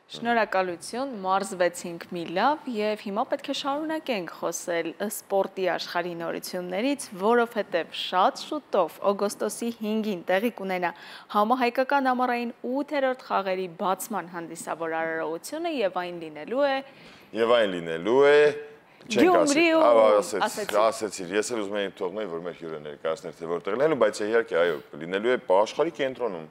Շնորհակալություն, մարզվեցինք մի լավ եւ հիմա պետք է շարունակենք խոսել սպորտի աշխարհի նորություններից, որովհետեւ շատ շուտով օգոստոսի 5-ին տեղի կունենա համահայկական ամառային 8-րդ խաղերի բացման հանդիսավոր արարողությունը եւ այն լինելու է ասեցիր, ես էլ ուզում եմ թողնել, որ մեր հյուրը ներկայացներ, թե որտեղ լինելու, բայց իհարկե, այո, լինելու է աշխարհի կենտրոնում։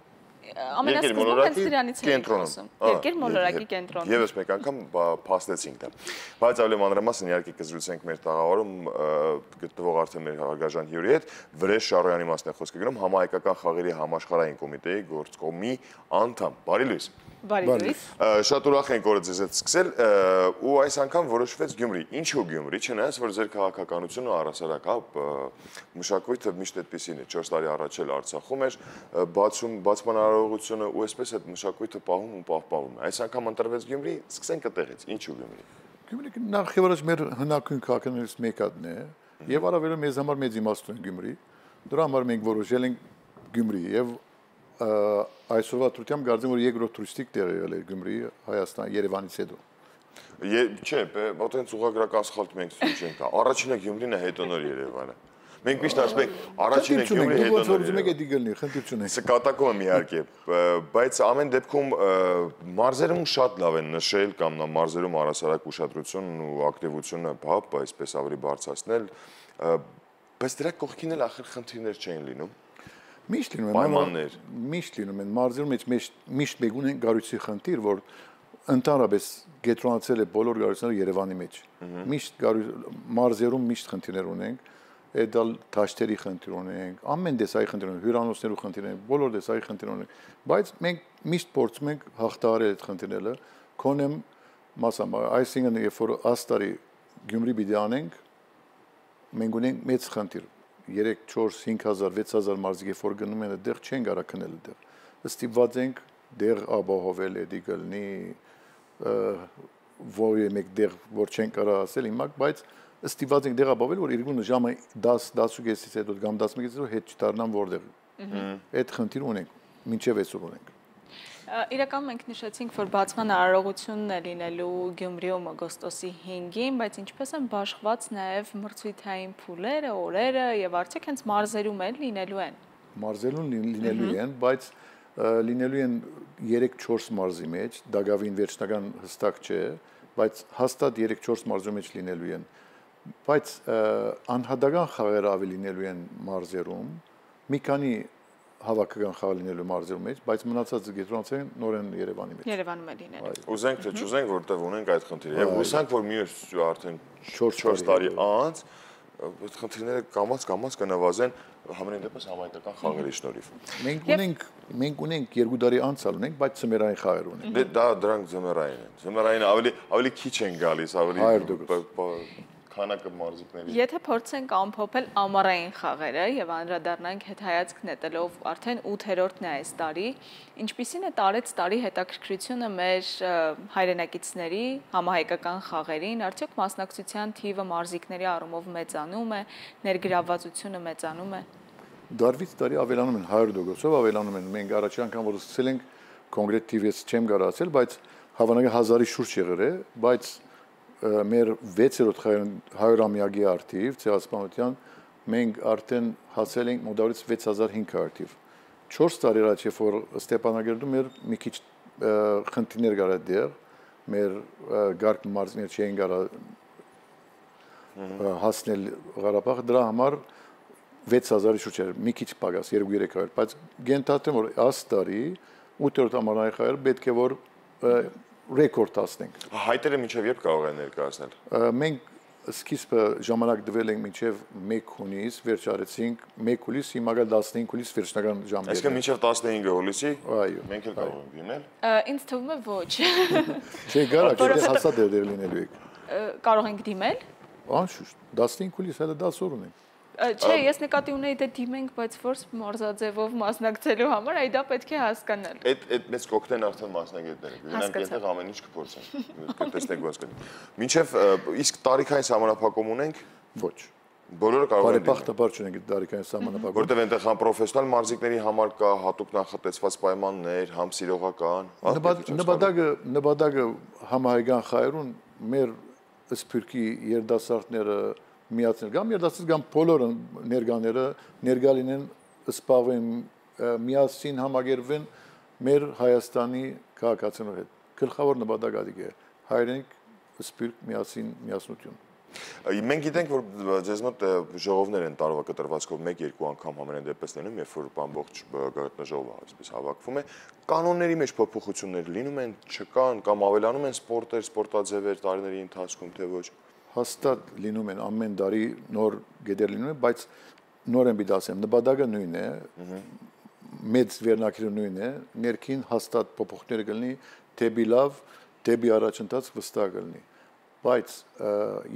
Ամենասկզբում հենց դրանից ենք խոսում։ Երկիր մոլորակի կենտրոնում։ Եվս մեկ անգամ փաստեցինք դա։ Բայց ավելի մանրամասն իհարկե կզրուցենք մեր տաղավարում գտնվող արդեն մեր հարգարժան հյուրի հետ, Վրեժ Շարոյանի մասն է խոսքը գնում, համահայկական խաղերի համաշխարհային կոմիտեի գործկոմի անդամ։ Բարի լույս։ Բարի լույս։ Շատ ուրախ ենք օրը ձեզ հետ սկսել ու այս անգամ որոշվեց Գյումրի։ Ինչու Գյումրի, չնայած որ ձեր քաղաքականությունը առհասարակ մշակույթը միշտ այդպեսին է, 4 տարի առաջ էլ Արցախում էր, բացման արարողությունը ու այսպես այդ մշակույթը պահում ու պահպանում է։ Այս անգամ ընտրվեց Գյումրի, սկսենք այդտեղից։ Ինչու Գյումրի։ Գյումրի նախ եւ առաջ մեր հնագույն քաղաքներից մեկն է եւ առավելը մեզ համար մեծ իմաստուն է Գյումրի։ Դրա համար մենք որոշել ենք Գյումրի եւ այսօրվա դրությամբ կարծեմ որ երկրորդ տուրիստիկ տեղ եղել է Գյումրի, Հայաստան, Երևանից հետո։ Չէ, այդպես ուղղագրական սխալ մենք չենք տա։ Առաջինը Գյումրին է, հետո նոր Երևանը։ Մենք միշտ ասում ենք առաջինը Գյումրի, հետո նոր։ Սա կատակում եմ իհարկե, բայց ամեն դեպքում մարզերում շատ լավ են նշել կամ մարզերում առհասարակ ուշադրությունն ու ակտիվությունը, այսպես ավելի բարձրացնել, բայց դրա կողքին էլ ախր խնդիրներ չեն լինում։ Միշտ լինում են մարզերում միշտ մեկ ունեն գարույցի խնդիր, որ ընդհանրապես կենտրոնացել է բոլոր գարույցները Երևանի մեջ։ Միշտ մարզերում միշտ խնդիրներ ունենք, այդալ դաշտերի խնդիր ունենք, ամեն տեսակի խնդիր ունենք, հյուրանոցներու խնդիր ունենք, բոլոր տեսակի խնդիր ունենք, բայց մենք միշտ փորձում ենք հաղթահարել այդ խնդիրները, քոնեմ մասամբ, այսինքն երբ որ աստարի Գյումրի պիտի անենք, մենք ունենք մեծ խնդիր 3, 4, 5000, 6000 մարզիկ որ գնում են այդտեղ չեն կարա քնել այդտեղ։ Ստիպված ենք դեղ ապահովել էդի գլնի որի մեկ դեղ որ չեն կարա ասել հիմա, բայց ստիպված ենք դեղ ապահովել որ երկու ժամը 10-10:30-ից հետո կամ 11-ից հետո հետ չդառնան որտեղ։ Այդ խնդիր ունենք, մինչև այսօր ունենք։ Իրականում մենք նշեցինք, որ բացման արարողությունն է լինելու Գյումրիում օգոստոսի 5-ին, բայց ինչպես են բաշխված նաև մրցույթային փուլերը, օրերը եւ արդյոք հենց մարզերում էլ լինելու են։ Մարզերում լինելու են, բայց լինելու են 3-4 մարզի մեջ, դակավին վերջնական հստակ չէ, բայց հաստատ 3-4 մարզի մեջ լինելու են։ Բայց անհատական խաղերը ավելի լինելու են մարզերում, մի քանի հավաքական խաղ լինելու մարզերում մեջ, բայց մնացածը կենտրոնացել են նորեն Երևանի մեջ։ Երևանում է լինելու։ Ուզենք թե չուզենք, որտեղ ունենք այդ խնդիրը։ Եվ հուսանք, որ մյուս արդեն 4 տարի անց այդ խնդիրները կամաց կնվազեն համենայն դեպս համայնքական խաղերի շնորհիվ։ Մենք ունենք 2 տարի անցալ ունենք, բայց ծմերային խաղեր ունենք։ Դրանք ծմերային են։ Ծմերային ավելի քիչ են գալիս, ավելի քանակը մարզիկների։ Եթե փորձենք ամփոփել ամառային խաղերը եւ անդրադառնանք հետհայացք նետելով արդեն 8-րդն է այս տարի, ինչպիսին է տարեց տարի հետաքրքրությունը մեր հայրենակիցների համահայկական խաղերին, արդյոք մասնակցության թիվը մարզիկների առումով մեծանում է, ներգրավվածությունը մեծանում է։ Դարվից տարի ավելանում են 100%-ով ավելանում են։ Մենք առաջի անգամ որ սկսել ենք կոնկրետ թիվից չեմ կարող ասել, բայց հավանաբար 1000-ի շուրջ եղել է, բայց մեր 6-րդ 100-ամյակի արդիվ ցեղասպանության մենք արդեն հասել ենք մոտավորապես 6500 թիվ։ 4 տարի առաջ երբ որ Ստեփանագերդում մեր մի քիչ խնդիրներ կար այդտեղ, մեր գարկ մարզիկներ չէին կարող հասնել Ղարաբաղ, դրա համար 6000-ի շուրջ էր, մի քիչ պակաս 2-300, բայց գենթաթեմ որ այս տարի 8-րդ ամառային խաղերը պետք է որ ռեկորդ հասնենք։ Հայտերը մինչև երբ կարող են ներկայացնել։ Մենք սկիզբը ժամանակ տվել ենք մինչև 1 հունիս, վերջարեցինք 1 հուլիս, հիմա գալ 15 հուլիս վերջնական ժամը։ Այսինքն մինչև 15 հուլիսի այո, մենք էլ կարող ենք դիմել։ Ինձ թվում է ոչ։ Չէ, գարա, եթե հասած դեր լինելու եք։ Կարող ենք դիմել։ Անշուշտ, 15 հուլիս հələ 10 օր ունենք։ Չէ, ես նկատի ունեի դե դիմենք, բայց որ մարզաձևով մասնակցելու համար այ դա պետք է հասկանալ։ Այդ մեծ կոկտեյլն արդեն մասնագետները։ Գնանք այդտեղ ամեն ինչ կփորձեն։ Տեսնենք ոնց կլինի։ Մինչև իսկ տարիքային համանախապակում ունենք։ Ոչ։ Բոլորը կարող են բարեպախտաբար չունենք դարիքային սահմանափակում։ Որտեւ այնտեղ համ պրոֆեսիոնալ մարզիկների համար կա հատուկ նախատեսված պայմաններ, համ սիրողական, նպատակը համահայկական խաղերուն մեր սփյուռքի երիտասարդները միացնել կամ երիտասարդ կամ բոլորը ներկա լինեն սպառվեն միասին համագերվեն մեր Հայաստանի քաղաքացիների հետ։ Գլխավոր նպատակը դա է հայրենիք սփյուռք միասնություն։ Մենք գիտենք, որ ձեզ մոտ ժողովներ են տարվա կտրվածքով 1-2 անգամ համենայն դեպս լինում, երբ որ ամբողջ գաղտնաժողովը այսպես հավաքվում է, կանոնների մեջ փոփոխություններ լինում են, չկան կամ ավելանում են սպորտեր, սպորտաձևեր տարիների ընթացքում, թե ոչ։ Հաստատ լինում են ամեն տարի նոր գեդեր լինում են, բայց նոր եմ դասեմ, նպատակը նույնն է, մեծ վերնակիրը նույնն է, ներքին հաստատ փոփոխություններ կլինի, դեպի լավ, դեպի առաջընթաց վստահ կլինի։ Բայց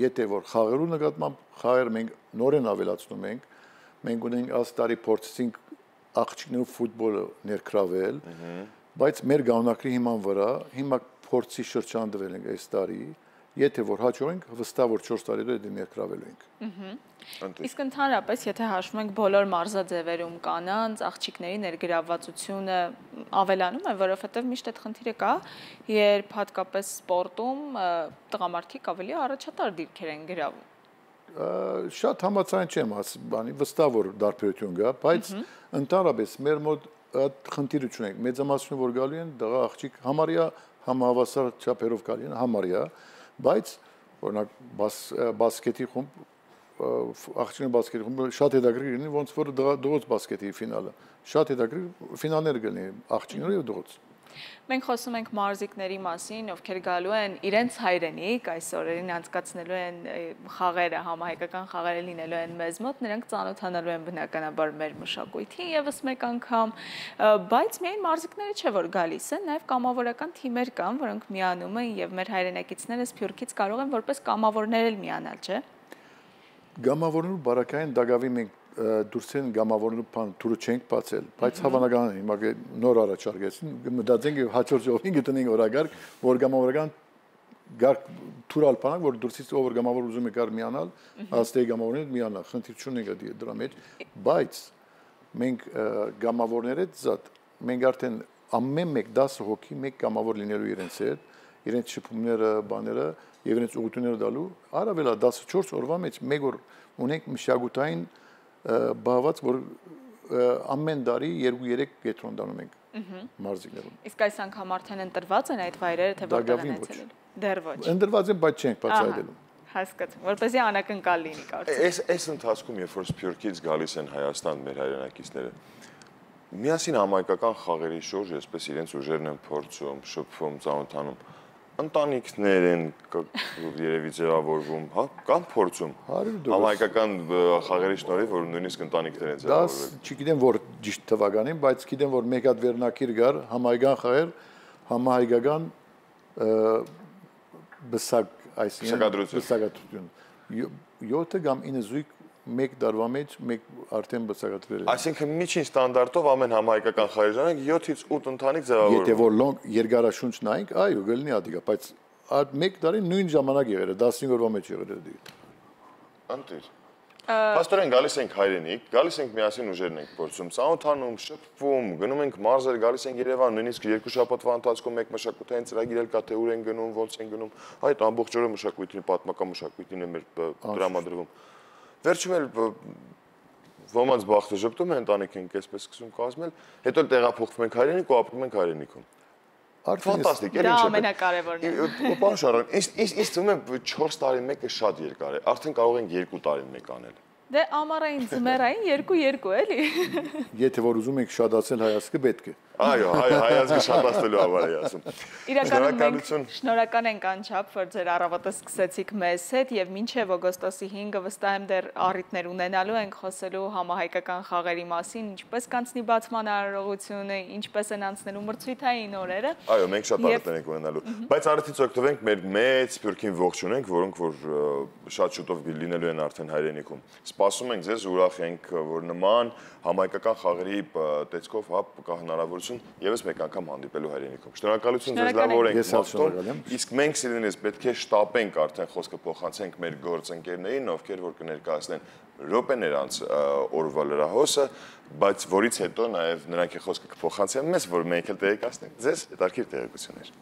եթե որ խաղերու նկատմամբ խաղեր մենք նորեն ավելացնում ենք, մենք ունենք աստարի փորձեցինք աղջիկներու ֆուտբոլը ներգրավել, բայց մեր գաղնակրի հիման վրա հիմա փորձի շրջան դվել ենք այս տարի, եթե որ հաջողենք վստահ որ 4 տարի դե ներգրավելու ենք։ Իսկ ընդհանրապես եթե հաշվում ենք բոլոր մարզաձևերում կանանց աղջիկների ներգրավվածությունը ավելանում է, որովհետև միշտ այդ խնդիրը կա, երբ հատկապես սպորտում տղամարդիկ ավելի առաջատար դիրքեր են գրավում։ Շատ համաձայն չեմ բանի վստահ որ դարբերություն կա, բայց ընդհանրապես մեր մոտ այդ խնդիրը չունենք։ Մեծամասնությունը որ գալու են դղա աղջիկ համարյա համահավասար չափերով գալի են համարյա, բայց օրինակ բասկետի խումբ աղջիկների բասկետի խումբը շատ հետաքրքիր լինի, ոնց որ դողոց բասկետի ֆինալը։ Շատ հետաքրքիր ֆինալներ կլինի աղջիկների եւ դողոց։ Մենք խոսում ենք մարզիկների մասին, ովքեր գալու են իրենց հայրենիք, այս օրերին անցկացնելու են խաղերը, համահայկական խաղերը լինելու են մեզ մոտ, նրանք ծանոթանալու են բնականաբար մեր մշակույթին եւս մեկ անգամ, բայց միայն մարզիկները չէ որ գալիս են, նաեւ կամավորական թիմեր կան, որոնք միանում են եւ մեր հայրենակիցները Սփյուռքից կարող են որպես կամավորներ էլ միանալ, չէ՞։ Գամավորներու բարակային դակավի մենք դուրս են գամավորներու բան դուրը չենք բացել, բայց հավանական է հիմա նոր առաջարկեցին, մտածենք հաջորդ ժողովին գտնենք օրագարկ, որ գամավորական գարկ թուրալ բանակ, որ դուրսից ով գամավոր ուզում է կար միանալ, աստեի գամավորները միանալ, խնդիր չունենք դրա մեջ, բայց մենք գամավորները զատ, մենք արդեն ամեն մեկ 10 հոգի մեկ գամավոր լինելու իրենց հետ, իրենց շփումները, բաները եւ իրենց ուղղությունները դալու, առավելա 14 օրվա մեջ մեկ օր ունենք մշակութային բաղված, որ ամեն տարի 2-3 կետրոն դանում ենք մարզիկներում։ Իսկ այս անգամ արդեն ընտրված են այդ վայրերը, թե որտեղ են այցելել։ Դեռ ոչ։ Ընտրված են, բայց չենք բացահայտելու։ Հասկացա, որպեսզի անակնկալ լինի կարծես։ Այս ընթացքում, երբ որ Սփյուռքից գալիս են Հայաստան մեր հայրենակիցները, միասին համայնքական խաղերի շուրջ, այսպես իրենց ուժերն են փորձում, շփվում, ծանոթանում, ընտանիքներ են երևի ձևավորվում, հա, կամ փորձում։ Համայնքական խաղերի շնորհիվ, որ նույնիսկ ընտանիքներ են ձևավորվել։ Դա չգիտեմ որ ճիշտ թվականին, բայց գիտեմ որ մեկ հատ վերնակիր գար համայնքական խաղեր, համահայկական բսակ, այսինքն բսակադրություն։ 7 կամ 9 զույգ մեկ դարվա մեջ մեկ արդեն բացակայել է։ Այսինքն միջին ստանդարտով ամեն համահայկական խաղերի ժամանակ 7-ից 8 ընտանիք ձևավորվում։ Եթե որ լոնգ երկարաշունչ նայենք, այո, գլնի ադիգա, բայց այդ մեկ տարի նույն ժամանակ եղել է, 15 օրվա մեջ եղել է դի։ Անտիր։ Պաստորեն գալիս ենք հայրենիք, գալիս ենք միասին ուժերն ենք փորձում, ծանոթանում, շփվում, գնում ենք մարզեր, գալիս ենք Երևան, նույնիսկ 2 շաբաթվա ընթացքում մեկ մշակութային ծրագիր էլ կա, թե ուր են գնում, ոնց են գնում։ Այդ ամբողջ օրը մշակույթի, պատմական մշակույթին է մեր դրամադրվում։ Վերջում էլ ոմանց բախտը ժպտում է, ընտանիք ենք այսպես սկսում կազմել, հետո տեղափոխվում ենք հայրենիք ու ապրում ենք հայրենիքում։ Ֆանտաստիկ, դա ամենակարևորն է։ Պարոն Շարոն, ինձ թվում է 4 տարին մեկը շատ երկար է, արդեն կարող ենք 2 տարին մեկ անել։ Դե ամառային, ձմեռային 2-2 էլի։ Եթե որ ուզում եք շատացնել հայացքը պետք է։ Այո, հայացքը շատացնելու համար է ասում։ Իրականում մենք շնորհակալ ենք անչափ, որ ձեր առավոտը սկսեցիք մեզ հետ եւ մինչեւ օգոստոսի 5-ը վստահ եմ դեռ առիթներ ունենալու ենք խոսելու համահայկական խաղերի մասին, ինչպես կանցնի բացման արարողությունը, ինչպես են անցնելու մրցույթային օրերը։ Այո, մենք շատ առիթներ ենք ունենալու, բայց առիթից օգտվենք մեր մեծ Սփյուռքին ողջունենք, որոնք որ շատ շուտով լինելու են արդեն հայրենիքում։ սպասում ենք ձեզ, ուրախ ենք, որ նման համայնքական խաղերի տեսքով կա հնարավորություն եւս մեկ անգամ հանդիպելու հայրենիքում։ Շնորհակալություն ձեզ, լավ օր ենք մաղթում։ Իսկ մենք սիրելիներս պետք է շտապենք արդեն խոսքը փոխանցենք մեր գործընկերներին, ովքեր որ կներկայացնեն րոպեներ անց օրվա լրահոսը, բայց որից հետո նաև նրանք խոսքը կփոխանցեն մեզ, որ մենք էլ տեղեկացնենք ձեզ հետաքրքիր տեղեկություններ։